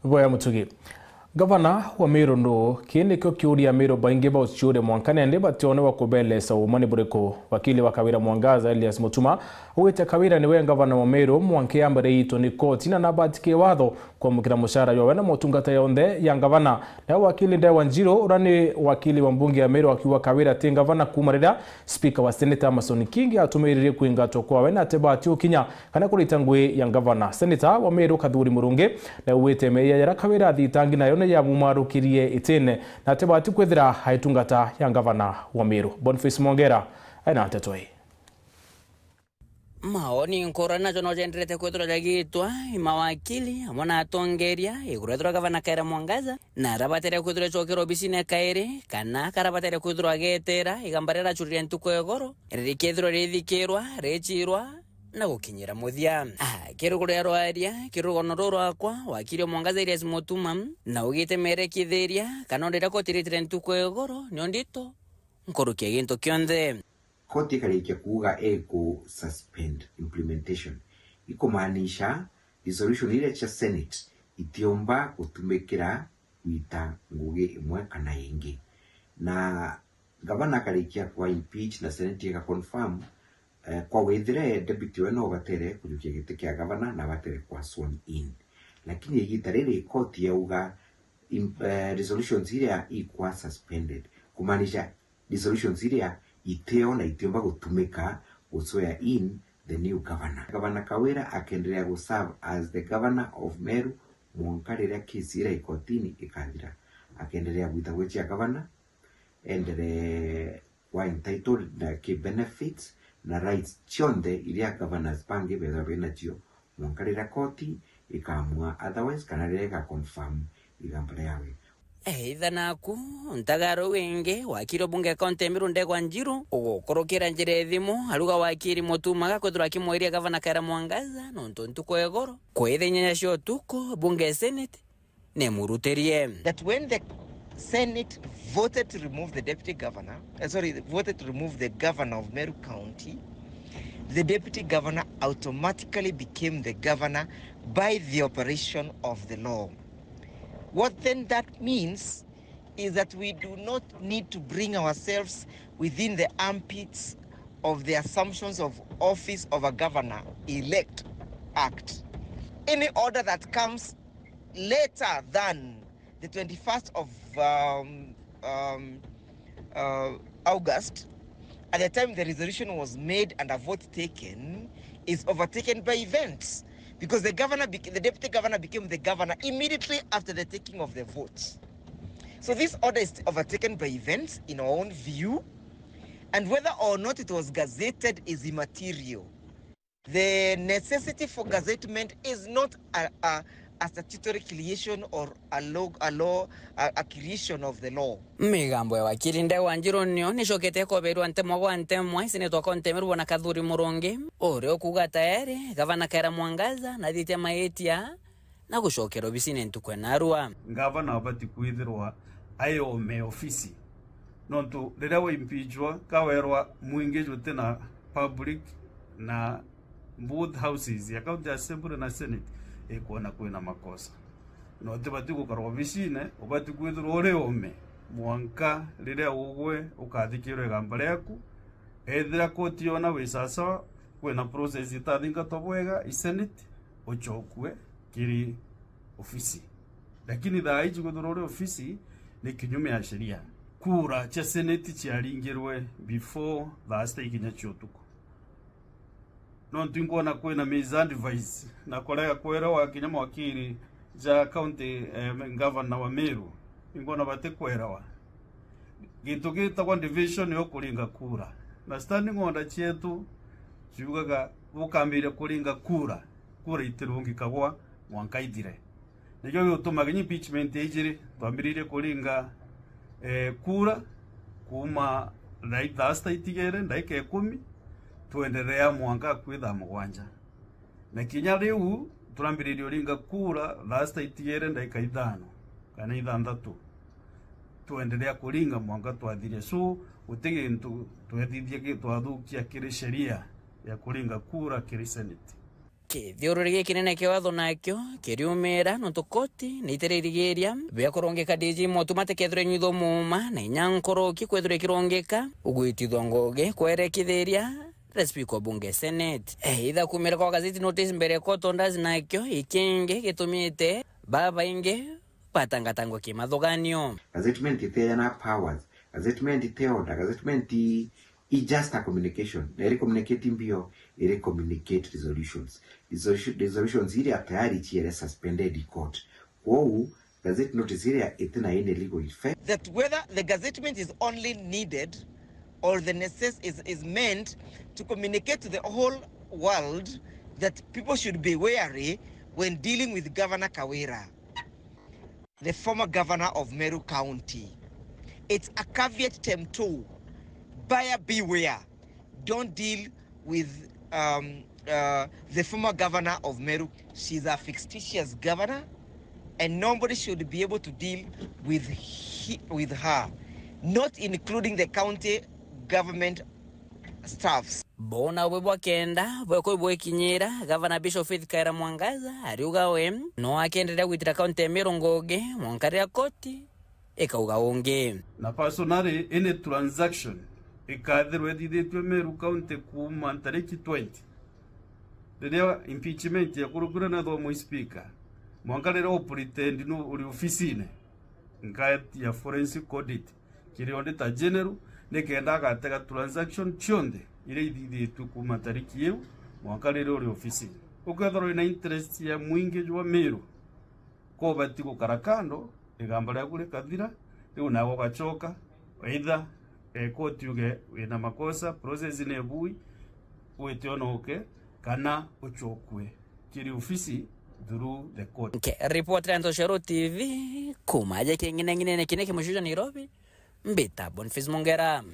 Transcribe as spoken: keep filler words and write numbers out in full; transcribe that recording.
Boya Mutugi. Gavana wa Meru nuu? Kii nikio kiuria Ameru baingi bauciuria mwanka nandi batione wa kubelesa uuma ni buriku. Wakili wa Kawira Mwangaza, Elias Mutuma, augite Kawira niwe gavana wa Meru mwanka yambere iitwe ni koti na nabati ki watho kwamukira mucara jwawe na motungata yonthe ya gavana. Nawe wakili Ndegwa Njiru, uria ni wakili wa mbunge ya Meru, akiuga Kawira ti gavana kuuma riria spika wa seneti Amason Kingi atumiririe kwingatwa kwawe na atibati ukinya kana kurita ngui ya gavana. Seneta wa Meru Kathuri Murungi naugite meeyia jaria Kawira athitangi nayo ni yamumarukirie itine na atibati kwithira aitungata ya gavana wa Meru. Boniface Mwongera aina nteto ii. Maoni nkurani najo no jenderete kwithirwa jagitwa i mawakili amwe na atongeria iguru ethirwa gavana Kawira Mwangaza na arabatere kwithirwa ecokera obisine kairi kana karabatere kwithirwa agetera igamba riria aracurire ntuku ya igoro rikethirwa rithikirwa, richirwa na gukinyira muthia. Ah, kiri kuria rwaria, kiri rugono ruu rwakwa, wakiri Mwangaza Elias Mutuma, na ugite merekithiria kana onde riria koti ritire ntuku ya igoro nio ndito nkuruki ya gintu kionthe. Koti ikarikia kuuga iku suspend implementation, ikumaanisha resolution iria cia Senate itiumba gutumikira gwita ngugi imwe kana ingi. Na gavana akarikia kwa impeach na Senate ika confirm, eh, kwa withire deputy we no batere kujukia giti kia gavana na batere kwa sworn in. Lakini igita riri koti yauga im-, eh, resolutions iria ikwa suspended, kumaanisha resolutions iria itio na itiumba gutumika gu swear in the new governor. Gavana Kawira akenderea gu serve as the governor of Meru mwanka riria case iria ikotini ikathira. Akenderea gwita gwi cia gavana, enderee kwa entitled na ki benefits na rights cionthe iria governors bangi bethirwa binacio mwanka riria koti ikaamua otherwise kana riria iga confirm igamba riawe. Eitha naku, ntagaro wingi, wakiri o bunge kaunti ya Meru Ndegwa Njiru, ugukurukira njira ya thimu, aruga wakiri Mutuma agakwithirwa akimwiria gavana Kawira Mwangaza, nontu ntuku ya igoro, kwitha inyanya cia utuku, bunge ya Senate nimurutirie. That when the Senate voted to remove the deputy governor, uh, sorry, voted to remove the governor of Meru County, the deputy governor automatically became the governor by the operation of the law. What then that means is that we do not need to bring ourselves within the armpits of the assumptions of office of a governor elect act. Any order that comes later than the twenty-first of, um, um, uh, August, at the time the resolution was made and a vote taken, is overtaken by events. Because the governor, bec-, the deputy governor became the governor immediately after the taking of the vote. So this order is overtaken by events, in our own view, and whether or not it was gazetted is immaterial. The necessity for gazettement is not a, a, a statutory creation or a law, a law, a, a creation of the law. Migambo ya wakiri Ndegwa Njiru nio nicokete ikoberwa ntemwa gwa ntemwa, ici ni twakontemerwa na Kathuri Murungi, uria ukuuga tayari gavana Kawira Mwangaza nathitie maitia na gucokera obisine ntuku ya narua. Ngavana abati kwithirwa ai ome ofisi, nontu riria waimpeachwa, kawerwa mwingi juti na public na both houses ya County Assembly na Senate ikwona kwina makosa. Na utibati gukara obisine, ubati kwithirwa uri ome mwanka riria ugwe ukathikirwa igamba riaku. Ethira koti yona wi sawasawa, kwina process itathingatwa bwega i Senate, uchokue kiri ofisi. Lakini thaa iji kwithirwa uri ofisi ni kinyume ya sheria. Kura cia Senate ciaringirwe before thaa sita ikinya cia utuku. Nontu inkwona kwina misadvice na kurega kwerewa kinya mawakiri ja county, eh, governor wa Meru. Inkwona batikwelewa. Gintu gitagwa division yo kuringa kura. Na standing order cietu ciugaga bukambiria kuringa kura, kura itirungikagwa mwanka ithire. Nikio gituma kinya impeachment ijiri, twambiririe kuringa, eh, kura kuuma thaa, thaa sita itigere, ndagika ikumi, twenderea mwanka akui thaa mugwanja. Na kinya riu turambiririe uringa kura thaa sita itigere ndagika ithano kana ithanthatu. Twenderea kuringa mwanka twathiria. So, guti gintu twethithia ki-, twathukia kiri sheria ya kuringa kura kiri Senate. Kithiururi gikinene kia watho nakio kiriumira nontu koti ni itiririgiria bia kurungika D G Mutuma atikethirwe inyuithwa muuma na inya nkoroki kwethirwa ikirungika ugwitithwa ngugi kwerekithiria the Speaker wa Bunge Senate. Either kumira kwa gazeti notice mbere ya court orders nakio ikingi gitumite babaingi batangatangwa kimathuganio. Gazettement iteana powers. Gazettement ite order. Gazettement i, i just a communication. Na iri communicate mbio, iri communicate resolutions. Resolution, resolutions iria tayari ciere suspended in court. Kwou, gazette notice iria itina any legal effect. That whether the gazettement is only needed or the necess-, is, is meant to communicate to the whole world that people should be wary when dealing with Governor Kawira, the former governor of Meru County. It's a caveat emptor. Buyer beware. Don't deal with, um, uh, the former governor of Meru. She's a fictitious governor, and nobody should be able to deal with he, with her, not including the county government staffs. Bona bwe bwa kenda bwekwe bwekinyira, Gavana Bishop Faith Kaira Mwangaza ariuga we no akenderea gwitira kaunti ya Meru ngugi mwanka riria koti ikauga ungi. Na personally, any transaction ikathirwa ithithitue Meru County kuuma ntariki twenty, riria impeachment yakurukirwe na thomo speaker, mwanka riria u pretend nu uri ofisine, nkaetia forensic audit kiri Auditor General, nikenda agatega transaction cionthe iria ithithitue kuuma tariki iu mwanka riria uri ofisine. Ukethirwa wina interest ya mwingi jwa Meru, ko ubati gukara kando, igamba riaku rikathira, riu nawe ugacoka, either, eh, koti uge wina makosa, process ni bui, wite onoke, kana ucokue kiri ofisi through the court. Nkiripotera Ntoshero T V, kuuma aja king'ineng'inene kine kimucuca Nairobi, mbita Boniface Mungera.